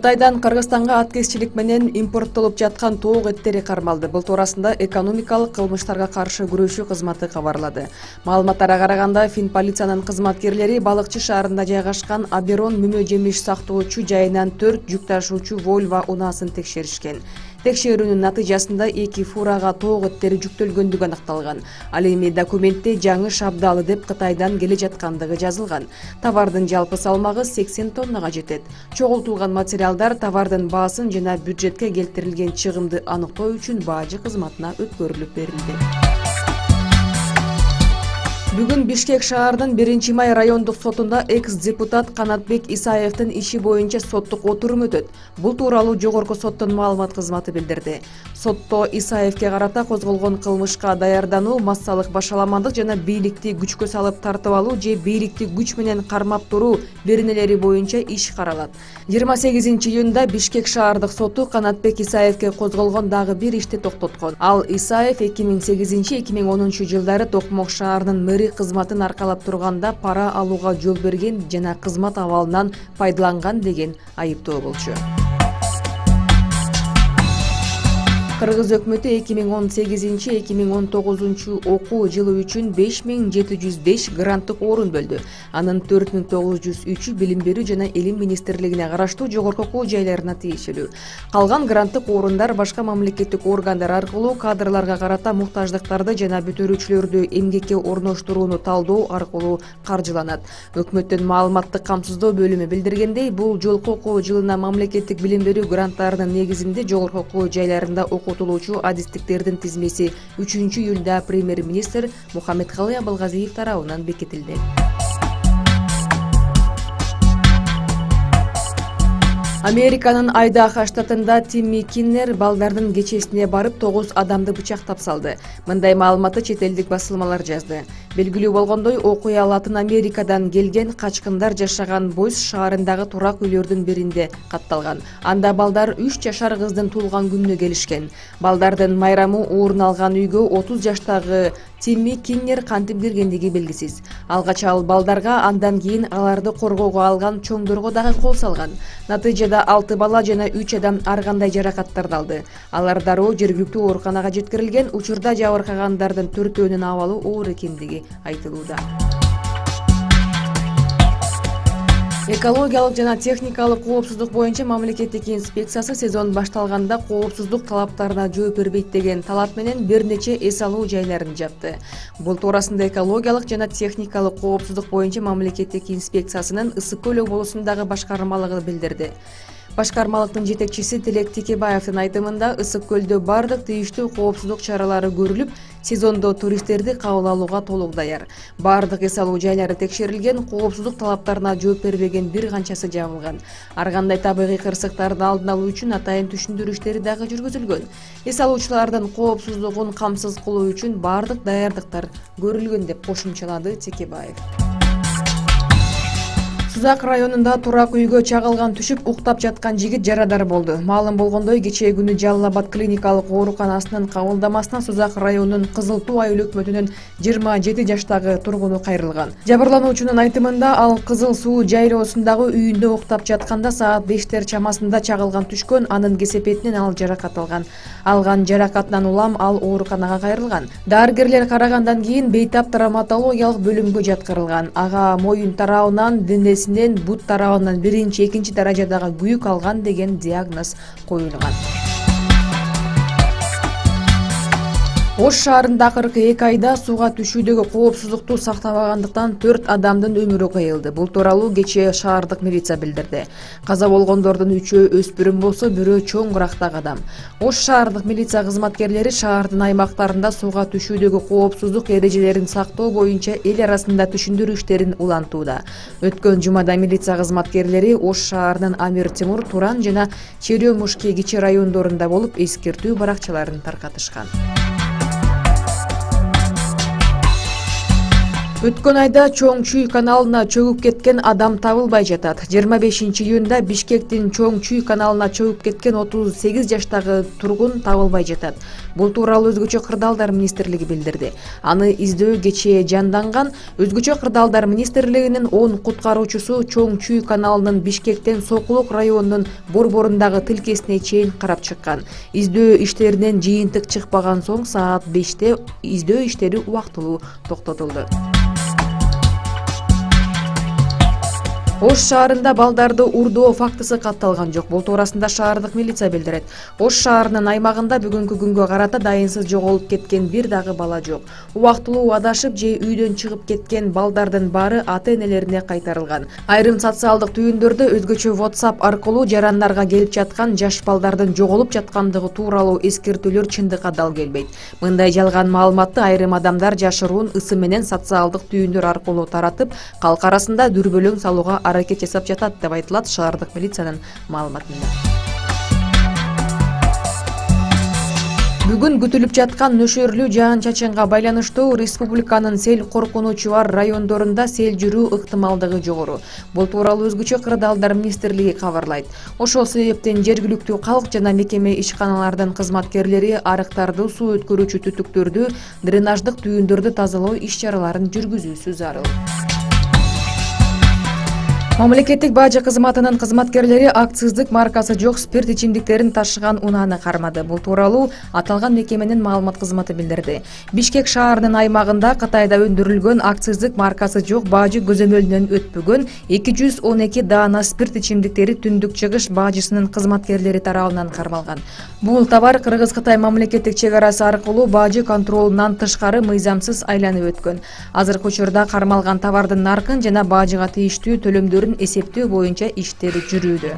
Кытайдан Кыргызстанга аткезчилик менен импорттолуп жаткан тоок эттери кармалды. Бул туурасында экономикалык кылмыштарга каршы күрөшүү кызматы кабарлады. Маалыматтарга караганда, Финполициянын кызматкерлери Балыкчы шаарында жайгашкан Аберон мөмө жемиш сактоочу жайынан 4 жүк ташуучу Volvo унаасын текшеришкен. Текшерүүнүн натыйжасында 2 фурага тоок эттери жүктөлгөндүгү аныкталган. Ал эми документте жаңы шабдалы деп Кытайдан келе жаткандыгы жазылган. Товардын жалпы салмагы 80 тоннага жетет. Чогултулган материалдар товардын баасын жана бюджетке келтирилген чыгымды аныктоо үчүн баажы кызматына өткөрүлүп берилди. Бүгүн Бишкек шаарынын 1-май райондук сотунда экс-депутат Канатбек Исаевдин иши боюнча соттук отурум өтөт. Бул тууралуу жогорку соттун маалымат кызматы билдирди. Сотто Исаевге карата козголгон кылмышка даярдануу, массалык башаламандык жана бийликти күчкө салып тартып алуу же бийликти күч менен кармап туруу беренелери боюнча иш каралат. 28-июнда Бишкек шаардык соту Канатбек Исаевге козголгон дагы бир ишти токтоткон. Ал Исаев 2008-2010 жылдары Токмок шаарынын мэри кызматын аркалап турганда пара алууга жол берген жана кызмат абалынан пайдаланган деген айыптоо болчу. Кыргыз өкмөтү 2018-2019 окуу жылы үчүн 5705 гранттык орун бөлдү. Анын 4903 билим берүү жана илим министрлигине караштуу жогорку окуу жайларына тиешелүү. Калган гранттык орундар башка мамлекеттик органдар аркылуу кадрларга карата муктаждыктарды жана бүтүрүүчүлөрдү эмгекке орноштурууну талдоо аркылуу каржыланат. Өкмөттүн маалыматтык камсыздоо бөлүмү билдиргендей, бул жолку окуу жылына мамлекеттик билим берүү гранттарынын негизинде жогорку окуу жайларында окутулуучу адистиктердин тизмеси 3-июлда премьер-министр Мухаммедкалый Абылгазиев тарабынан бекитилди. Американын Айдахо штатында Тимми Киннер балдардын кечесине барып 9 адамды бычактап салды. Мындай маалыматты чет элдик басылмалар жазды. Белгилүү болгондой, окуя Латын Америкадан келген качкындар жашаган Бойс шаарындагы турак үйлөрдүн биринде катталган. Анда балдар 3 жашар кыздын туулган күнүнө келишкен. Балдардын майрамы орун алган үйгө 30 жаштагы Тимми Киннер кантип киргендиги белгисиз. Алгач ал балдарга, андан кийин аларды коргоого алган чоңдорго дагы кол салган. Натыйжада 6 бала жана 3 адам ар кандай жаракаттарды алды. Алар дароо жергиликтүү ооруканага жеткирилген. Учурда жабыркагандардын 4-өөнүн абалы оор экендиги айтылууда. Экологиялык жана техникалык коопсуздук боюнча мамлекеттик инспекциясы сезон башталганда коопсуздук талаптарына жооп бербейт деген талап менен бир нече эс алуу жайларын жапты. Бул туурасында экологиялык жана техникалык коопсуздук боюнча мамлекеттик инспекциясынын Ысык көл облусундагы башкармалыгы билдирди. Башкармалыктын жетекчиси Тилек Текебаевдин айтымында, Ысык көлдө бардык тийиштүү коопсуздук чаралары көрүлүп, сезондо туристтерди кабыл алууга толук даяр. Бардык эс алуу жайлары текшерилген, коопсуздук талаптарына жооп бербеген бир канчасы жабылган. Ар кандай табигый кырсыктардын алдын алуу үчүн атайын түшүндүрүү иштери дагы жүргүзүлгөн. Эс алуучулардын коопсуздугун камсыз кылуу үчүн бардык даярдыктар көрүлгөн деп кошумчалады Текебаев. Сузак районунда турак үйгө чагылган түшүп уктап жаткан жигит жарадар болду. Маалым болгондой, кечээ күнү Жалал Абад клиникалык ооруканасынын кабылдамасына Сузак районунун Кызыл Туу айыл өкмөтүнүн 27 жаштагы тургуну кайрылган. Жабырлануучунун айтымында, ал Кызыл Суу жайлоосундагы үйүндө уктап жатканда саат 5 чамасында чагылган түшкөн, анын кесепетинен ал жаракат алган. Алган жаракатынан улам ал ооруканага кайрылган. Дарыгерлер карагандан кийин бейтап травматологиялык бөлүмгө жаткырылган. Ага моюн тарабынан, денесинен, бут тарабынан 1-2 даражадагы күйүк алган деген диагноз коюлган. Ош шаарында акыркы 2 айда сууга түшүүдөгү коопсуздукту сактабагандыктан 4 адамдын өмүрү кыйылды. Бул тууралуу кечээ шаардык милиция билдирди. Каза болгондордун 3-өө өспүрүм болсо, бирөө чоң курактагы адам. Ош шаардык милиция кызматкерлери шаардын аймактарында сууга түшүүдөгү коопсуздук эрежелерин сактоо боюнча эл арасында түшүндүрүү иштерин улантууда. Өткөн жумада милиция кызматкерлери Ош шаарынын Амир Темур, Туран жана Черемушки кичи райондорунда болуп, эскертүү баракчаларын таркатышкан. Өткөн айда Чоң Чүй каналына чөгүп кеткен адам табылбай жатат. 25-июнда Бишкектин Чоң Чүй каналына чөгүп кеткен 38 жаштагы тургун табылбай жатат. Бул тууралуу Өзгөчө кырдаалдар министрлиги билдирди. Аны издөө кечээ жанданган. Өзгөчө кырдаалдар министрлигинин 10 куткаруучусу Чоң Чүй каналынын Бишкектен Сокулук районунун борборундагы тилкесине чейин карап чыккан. Издөө иштеринен жыйынтык чыкпаган соң саат 5-те издөө иштери убактылуу токтотулду. Ош шаарында балдарды урдоо фактысы катталган жок. Бул туурасында шаардык милиция билдирет. Ош шаарынын аймагында бүгүнкү күнгө карата дайынсыз жоголуп кеткен бир дагы бала жок. Убактылуу адашып же үйдөн чыгып кеткен балдардын баары ата-энелерине кайтарылган. Айрым социалдык түйүндөрдө өзгөчө WhatsApp аркылуу жарандарга келип жаткан жаш балдардын жоголуп жаткандыгы тууралуу эскертүүлөр чындыкка дал келбейт. Мындай жалган маалыматты айрым адамдар жашыруун ысы менен социалдык түйүндөр аркылуу таратып, калк арасында дүрбөлөң салууга аракет жасап жатат деп айтылат шаардык милициянын маалыматында. Бүгүн күтүлүп жаткан нөшөрлүү жаан-чачынга байланыштуу республиканын сел коркунучу бар райондорунда сел жүрүү ыктымалдыгы жогору. Бул тууралуу Өзгөчө кырдаалдар министрлиги кабарлайт. Ошол себептен жергиликтүү калк жана мекеме ишканалардын кызматкерлери арыктарды, суу өткөрүүчү түтүктөрдү, дренаждык түйүндөрдү тазалоо иш-чараларын жүргүзүүсү зарыл. Мамлекеттик бажы кызматынын кызматкерлери акциздик маркасы жок спирт ичимдиктерин ташыган унааны кармады. Бул тууралуу аталган мекеменин маалымат кызматы билдирди. Бишкек шаарынын аймагында Кытайда өндүрүлгөн акциздик маркасы жок бажы көзөмөлүнөн өтпөгөн 212 даана спирт ичимдиктери Түндүк Чыгыш бажысынын кызматкерлери тарабынан кармалган. Бул товар Кыргыз-Кытай мамлекеттик чек арасы аркылуу бажы контролунан тышкары мыйзамсыз айланып өткөн. Азыркы учурда кармалган товардын наркын жана бажыга тийиштүү төлөмдөрүн эсептөө боюнча иштери жүрүүдө.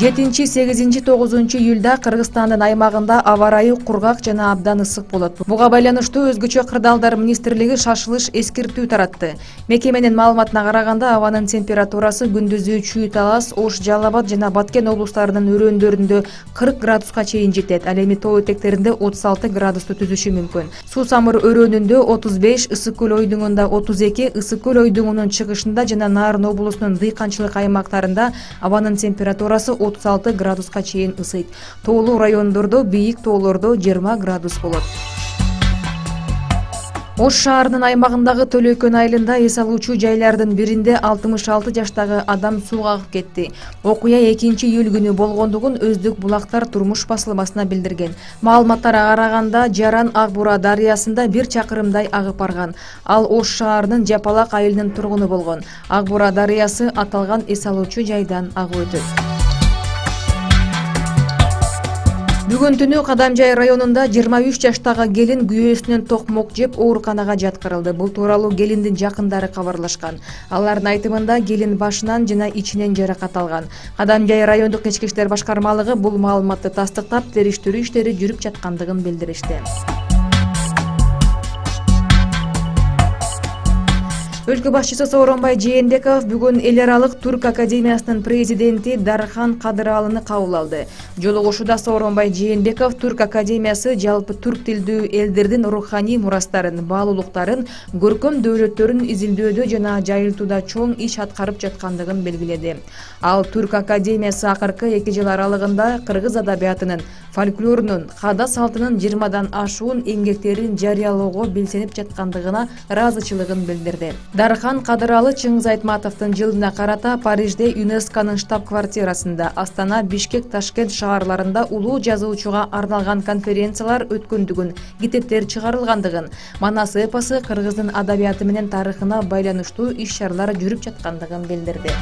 7-8-9 июлда Кыргызстандын аймагында аба ырайы кургак жана абдан ысык болот. Буга байланыштуу Өзгөчө кырдаалдар министрлиги шашылыш эскертүү таратты. Мекеменин маалыматына караганда абанын температурасы күндүзү Чүй Талас, Ош, Жалал Абад жана Баткен облустарынын өрөөндөрүндө 40 градуска чейин жетет. Ал эми тоо этектеринде 36 градусту түзүшү мүмкүн. Суу Самыр өрөөнүндө 35, Ысык көл ойдуңунда 32, Ысык көл ойдуңунун чыгышында жана Нарын облусунун дыйканчылык аймактарында абанын температурасы 36 градуска чейин ысыйт. Тоолуу райондордо, бийик тоолордо 20 градус болот. Ош шаарынын аймагындагы Төлөкөн айылында эс алуучу жайлардын биринде 66 жаштагы адам сууга агып кетти. Окуя 2-июль күнү болгондугун Өздүк булактар турмуш басылмасына билдирген. Маалыматтарга караганда Жаран Ак Бура дарыясында 1 чакырымдай агып барган. Ал Ош шаарынын Жапалак айылынын тургуну болгон. Ак Бура дарыясы аталган эс алуучу жайдан агып өтөт. Бүгүн түнү Кадамжай районунда 23 жаштагы келин күйөөсүнөн токмок жеп ооруканага жаткырылды. Бул тууралуу келиндин жакындары кабарлашкан. Алардын айтымында келин башынан жана ичинен жаракат алган. Кадамжай райондук ички иштер башкармалыгы бул маалыматты тастыктап, териштирүү иштери жүрүп жаткандыгын билдиришти. Өлкө башчысы Сооронбай Жээнбеков бүгүн эл аралык Түрк академиясынын президенти Дархан Кадыралыны кабыл алды. Жолугушууда Сооронбай Жээнбеков Түрк академиясы жалпы түрк тилдүү элдердин руханий мурастарын, баалуулуктарын, көркөм дөөлөттөрүн изилдөөдө жана жайылтууда чоң иш аткарып жаткандыгын белгиледи. Ал Түрк академиясы акыркы 2 жыл аралыгында кыргыз адабиятынын, фольклорунун, каада салтынын 20дан ашуун эмгектерин жарыялоого белсенип жаткандыгына ыраазычылыгын билдирди. Дархан Кадыралы Чыңгыз Айтматовдун жылына карата Парижде ЮНЕСКОнун штаб-квартирасында, Астана, Бишкек, Ташкент шаарларында улуу жазуучуга арналган конференциялар өткөндүгүн, китептер чыгарылгандыгын, Манас эпосу кыргыздын адабияты менен тарыхына байланыштуу иш-чаралар жүрүп жаткандыгын билдирди.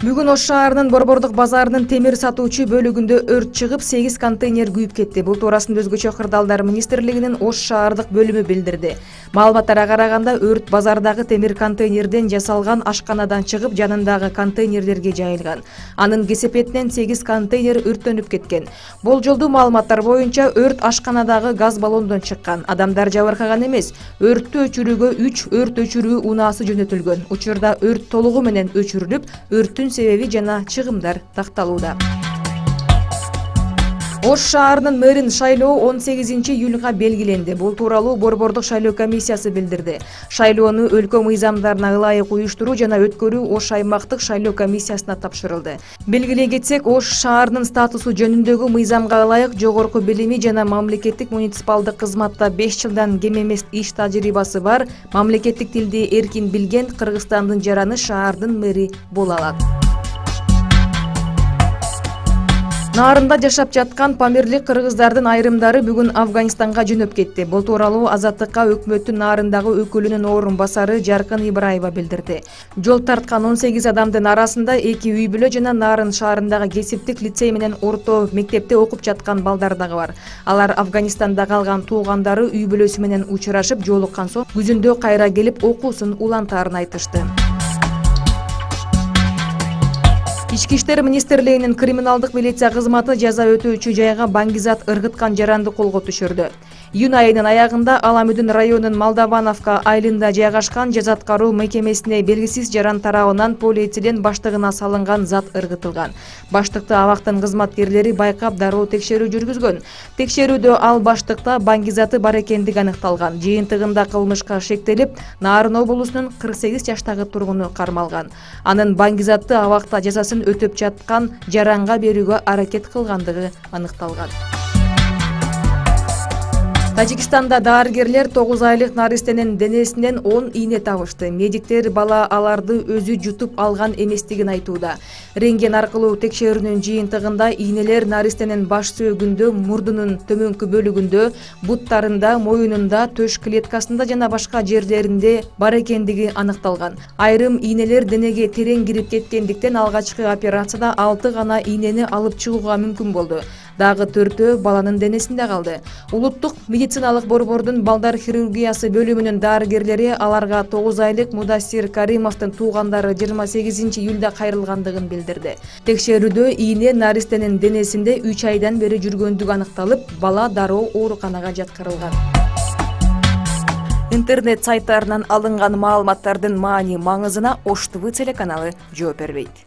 Бүгүн Ош шаарынын Борбордук базарынын темир сатуучу бөлүгүндө өрт чыгып, 8 контейнер күйүп кетти. Бул туурасында Өзгөчө кырдаалдар министрлигинин Ош шаардык бөлүмү билдирди. Маалыматтарга караганда өрт базардагы темир контейнерден жасалган ашканадан чыгып, жанындагы контейнерлерге жайылган. Анын кесепетинен 8 контейнер өрттөнүп кеткен. Болжолдуу маалыматтар боюнча өрт ашканадагы газ баллондон чыккан. Адамдар жабыркаган эмес. Өрттү өчүрүүгө 3 өрт өчүрүү унаасы жөнөтүлгөн. Учурда өрт толугу менен өчүрүлүп, өрттүн себеби жана чыгымдар такталууда. Ош шаарынын мэрин шайлоо 18-июлга белгиленди. Бул тууралуу Борбордук шайлоо комиссиясы билдирди. Шайлоону өлкө мыйзамдарына ылайык уюштуруу жана өткөрүү Ош аймактык шайлоо комиссиясына тапшырылды. Белгилей кетсек, Ош шаарынын статусу жөнүндөгү мыйзамга ылайык жогорку билими жана мамлекеттик муниципалдык кызматта 5 жылдан кем эмес иш тажрыйбасы бар, мамлекеттик тилди эркин билген Кыргызстандын жараны шаардын мэри боло алат. Нарында жашап жаткан памирлик кыргыздардын айрымдары бүгүн Афганистанга жөнөп кетти. Бул тууралуу Азаттыкка өкмөттүн нарындагы өкүлүнүн орун басары Жаркын Ибраева билдирди. Жол тарткан 18 адамдын арасында 2 үй бүлө жана Нарын шаарындагы кесиптик лицей менен орто мектепте окуп жаткан балдар дагы бар. Алар Афганистанда калган туугандары үй бүлөсү менен учурашып жолуккан соң күзүндө кайра келип окуусун улантаарын айтышты. Ички иштер министрлигинин криминалдык милиция кызматы жаза өтөөчү жайга баңгизат ыргыткан жаранды колго түшүрдү. Июнь айынын аягында Аламүдүн районунун Молдавановка айылында жайгашкан жаза аткаруу мекемесине белгисиз жаран тарабынан полиэтилен баштыгына салынган зат ыргытылган. Баштыкты абактын кызматкерлери байкап дароо текшерүү жүргүзгөн. Текшерүүдө ал баштыкта баңгизаты бар экендиги аныкталган. Жыйынтыгында кылмышка шектелип, Нарын облусунун 48 жаштагы тургуну кармалган. Анын баңгизатты абакта жазасын өтөп жаткан жаранга берүүгө аракет кылгандыгы аныкталган. Тажикстанда дарыгерлер 9 айлык наристенин денесинен 10 ийне табышты. Медиктер бала аларды өзү жутуп алган эместигин айтууда. Рентген аркылуу текшерүүнүн жыйынтыгында ийнелер наристенин баш сөөгүндө, мурдунун төмөнкү бөлүгүндө, буттарында, моюнунда, төш клеткасында жана башка жерлеринде бар экендиги аныкталган. Айрым ийнелер денеге терең кирип кеткендиктен алгачкы операцияда 6 гана ийнени алып чыгууга мүмкүн болду. Дагы 4-өө баланын денесинде калды. Улуттук медициналык борбордун балдар хирургиясы бөлүмүнүн дарыгерлери аларга 9 айлык Мудассир Каримовдун туугандары 28 июлда кайрылгандыгын билдирди. Текшерүүдө ийне наристенин денесинде 3 айдан бери жүргөндүгү аныкталып, бала дароо ооруканага жаткырылган. Интернет сайттарынан алынган маалыматтардын маани маңызына Ош ТВ телеканалы жооп бербейт.